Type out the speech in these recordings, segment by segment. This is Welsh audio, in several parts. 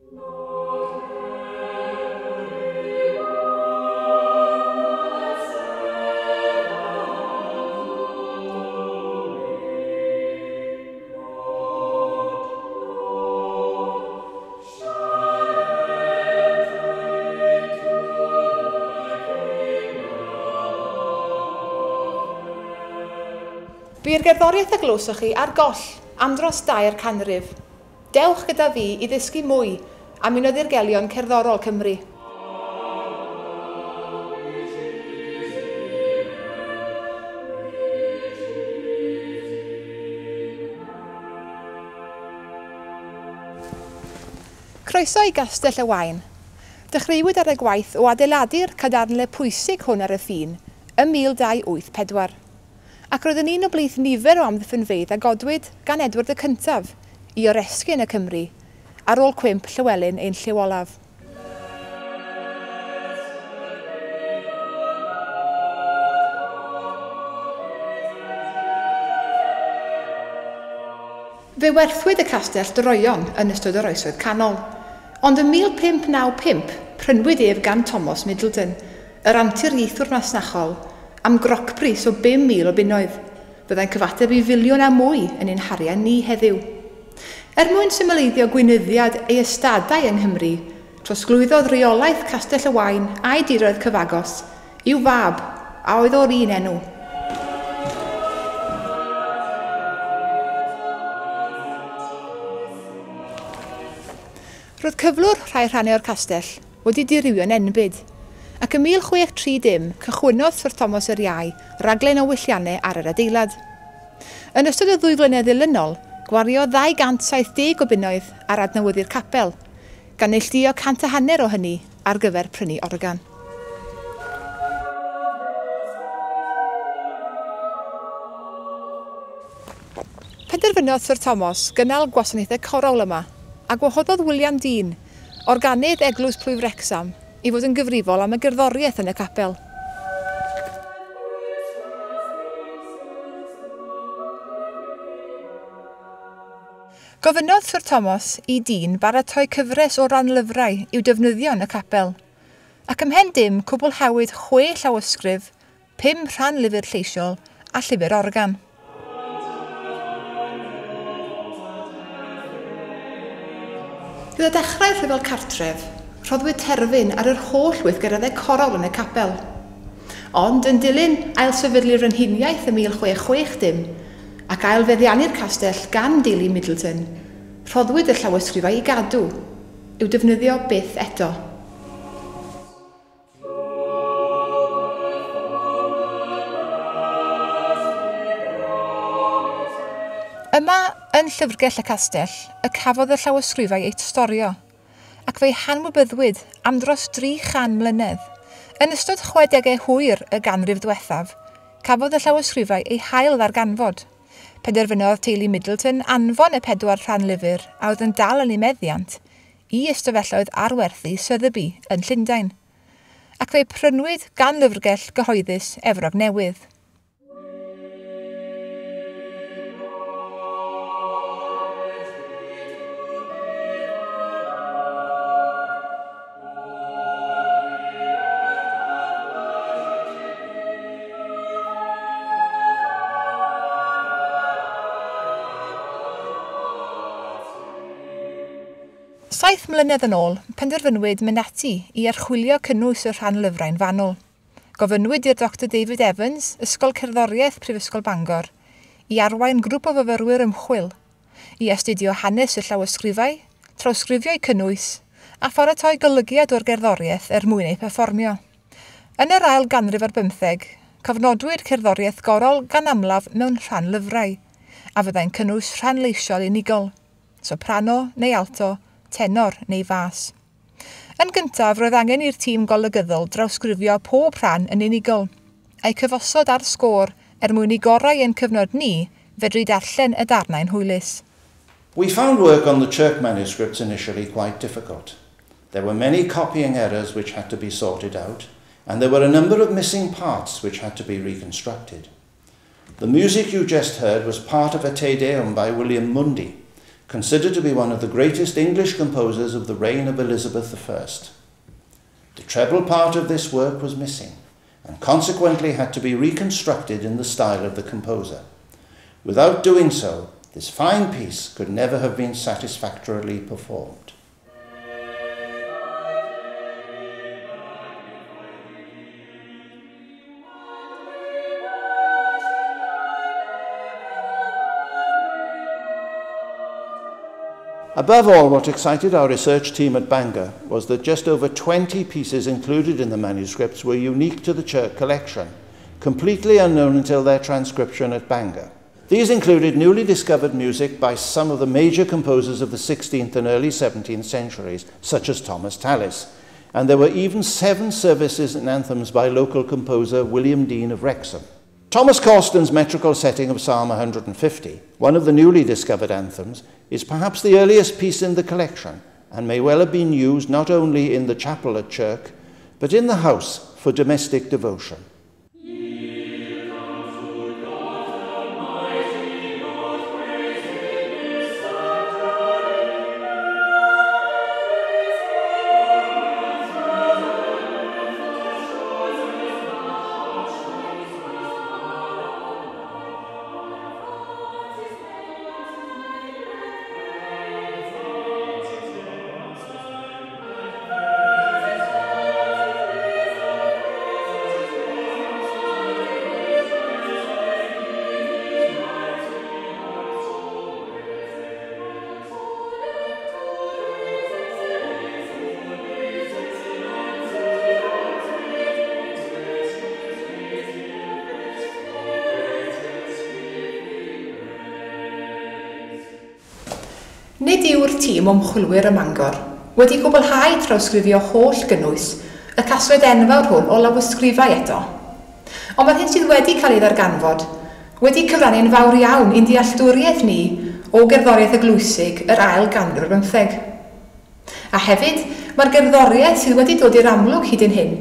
Bu'r gerddoriaeth a glywsoch chi ar goll am dros 3 canrif. Dewch gyda fi i ddysgu mwy am un o ddirgelion cerddorol Cymru. Croeso i Gastell y Waun. Dechreuwyd ar y gwaith o adeiladu'r cadarnle pwysig hwn ar y ffin ym 1284. Ac roedd yn un o blith nifer o amddiffynfeydd a godwyd gan Edward y Cyntaf i oresgyn y Cymru ar ôl cwymp Llywelyn ein llyw olaf. Fe werthwyd y castell droeon yn ystod yr Oesoedd Canol, ond ym 1595 prynwyd ef gan Thomas Middleton, yr anturiaethwr masnachol, am grocbris o 5,000 o bunnoedd, fyddai'n cyfateb i filiwn a mwy yn ein harian ni heddiw. Er mwyn symleiddio gweinyddiad ei ystadau yng Nghymru, trosglwyddodd reolaeth Castell y Waun a'i diroedd cyfagos i'w fab, a oedd o'r un enw. Roedd cyflwr rhai rhannau o'r castell wedi dirywio'n enbyd, ac ym 1630 cychwynnodd Sir Thomas yr Iau raglen o welliannau ar yr adeilad. Yn ystod y 2 flynedd ddilynol, gwariodd 270 o bunnoedd ar adnewyddu'r capel, gan neilltuo 150 o hynny ar gyfer prynu organ. Penderfynodd Sir Thomas gynnal gwasanaethau corawl yma, a gwahoddodd William Dean, organydd Eglwys Plwyf Wrecsam, i fod yn gyfrifol am y gerddoriaeth yn y capel. Gofynnodd Sir Thomas i Dean baratoi cyfres o ranlyfrau i'w defnyddio yn y capel, ac ymhen dim cwblhawyd 6 llawysgrif, 5 rhan lyfr lleisiol a llyfr organ. Gyda dechrau'r rhyfel cartref, rhoddwyd terfyn ar yr holl weithgareddau corawl yn y capel. Ond yn dilyn ailsefydlu'r Frenhiniaeth ym 1660 ac ailfeddiannu'r castell gan deulu Middleton, rhoddwyd y llawysgrifau i gadw, i'w defnyddio byth eto. Yma, yn llyfrgell y castell, y cafodd y llawysgrifau eu storio, ac fe'i hanwybyddwyd am dros 300 mlynedd. Yn ystod 60au hwyr y ganrif ddiwethaf, cafodd y llawysgrifau eu hail ddarganfod. Penderfynodd teulu Middleton anfon y 4 rhan lyfr a oedd yn dal yn ei meddiant i ystafelloedd arwerthu Sotheby yn Llundain, ac fe'i prynwyd gan lyfrgell gyhoeddus Efrog Newydd. Saith mlynedd yn ôl, penderfynwyd mynd ati i archwilio cynnwys y rhan lyfrau'n fanwl. Gofynnwyd i'r Dr David Evans, Ysgol Cerddoriaeth Prifysgol Bangor, i arwain grŵp o fyfyrwyr ymchwil, i astudio hanes y llawysgrifau, trawsgrifio'u cynnwys, a pharatoi golygiad o'r gerddoriaeth er mwyn ei perfformio. Yn yr ail ganrif ar bymtheg, cofnodwyd cerddoriaeth gorol gan amlaf mewn rhan lyfrau, a fyddai'n cynnwys rhan leisiol unigol, soprano neu alto, tenor neu fas. Yn gyntaf, roedd angen i'r tîm golygyddol drawsgrifio pob rhan yn unigol, a'i cyfosod ar sgôr er mwyn i gorau ein cyfnod ni fedru darllen y darnau'n hwylus. We found work on the Chirk manuscripts initially quite difficult. There were many copying errors which had to be sorted out, and there were a number of missing parts which had to be reconstructed. The music you just heard was part of a Te Deum by William Mundy, considered to be one of the greatest English composers of the reign of Elizabeth I. The treble part of this work was missing, and consequently had to be reconstructed in the style of the composer. Without doing so, this fine piece could never have been satisfactorily performed. Above all, what excited our research team at Bangor was that just over 20 pieces included in the manuscripts were unique to the Chirk collection, completely unknown until their transcription at Bangor. These included newly discovered music by some of the major composers of the 16th and early 17th centuries, such as Thomas Tallis, and there were even 7 services and anthems by local composer William Dean of Wrexham. Thomas Causton's metrical setting of Psalm 150, one of the newly discovered anthems, is perhaps the earliest piece in the collection and may well have been used not only in the chapel at Chirk, but in the house for domestic devotion. Nid yw'r tîm ymchwilwyr ym Mangor wedi gwblhau trawsgrifio holl gynnwys y casgliad enfawr hwn o lawysgrifau eto. Ond mae'r hyn sydd wedi cael ei ddarganfod wedi cyfrannu'n fawr iawn i'n dealltwriaeth ni o gerddoriaeth eglwysig yr ail ganrif ar bymtheg. A hefyd, mae'r gerddoriaeth sydd wedi dod i'r amlwg hyd yn hyn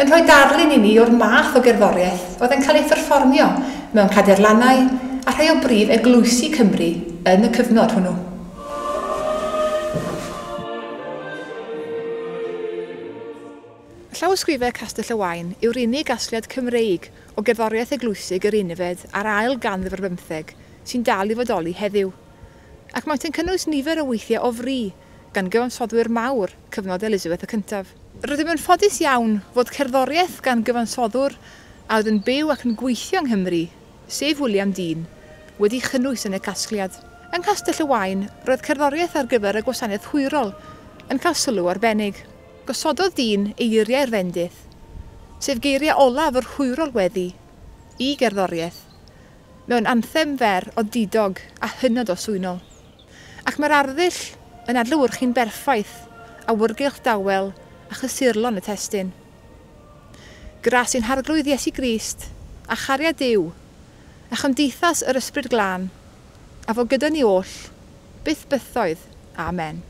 yn rhoi darlun i ni o'r math o gerddoriaeth oedd yn cael ei pherfformio mewn cadeirlannau a rhai o brif eglwysi Cymru yn y cyfnod hwnnw. Llawysgrifau Castell y Waun yw'r unig gasgliad Cymreig o gerddoriaeth eglwysig yr unfed a'r ail ganrif ar bymtheg sy'n dal i fodoli heddiw, ac maent yn cynnwys nifer o weithiau o fri gan gyfansoddwyr mawr cyfnod Elizabeth y Cyntaf. Rydym yn ffodus iawn fod cerddoriaeth gan gyfansoddwr a oedd yn byw ac yn gweithio yng Nghymru, sef William Dean, wedi chynnwys yn y casgliad. Yng Nghastell y Waun, roedd cerddoriaeth ar gyfer y gwasanaeth hwyrol yn cael sylw arbennig. Gosododd Dean eiriau'r fendith, sef geiriau olaf yr hwyrol weddi, i gerddoriaeth, mewn anthem fer o didog a hynod o swynol. Ac mae'r arddull yn adlewyrchu'n berffaith awyrgylch dawel a chysurlon y testun. Gras i'n harglwydd Iesu Grist, a chariad Duw, a chymdeithas yr Ysbryd Glân, a fo gyda ni oll, byth bythoedd. Amen.